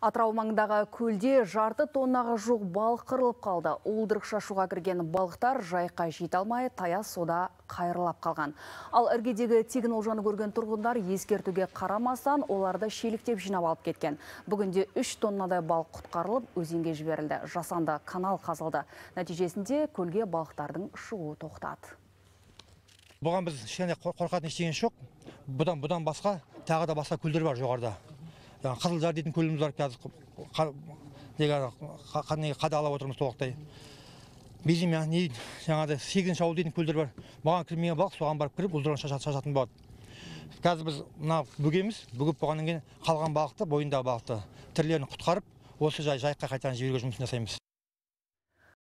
Атырау маңындағы көлде жарты тоннаға жоқ балық қырылып қалды. Уылдырық шашуға кірген балықтар жайыққа жете алмай, таяз суда қайырлап қалған. Ал іргедегі тегін олжаны көрген тұрғындар ескертуге қарамастан оларды шеліктеп жинап алып кеткен. Бүгінде 3 тоннадай балық құтқарылып, өзенге жіберілді. Жасанды канал қазылды. Нәтижесінде көлге балықтардың шығуы тоқтады. Бұған біз қорқатын ештеңе жоқ. Бұдан басқа тағы да басқа көлдер бар жоғарыда. Қызылжар дейтін көліміз бар, қадағалап отырмыз толықтай. Безімя, жаңағыдай 8 ауыл дейтін көлдер бар. Бұған кірмеген балық соған барып кіріп, ұлдырған шашатын болады. Қазір біз бүгіп болғаннан кейін қалған балықты, бойындағы балықты тірлерін құтқарып, осы жайыққа қайтадан жіберуге жұмысын жасаймыз.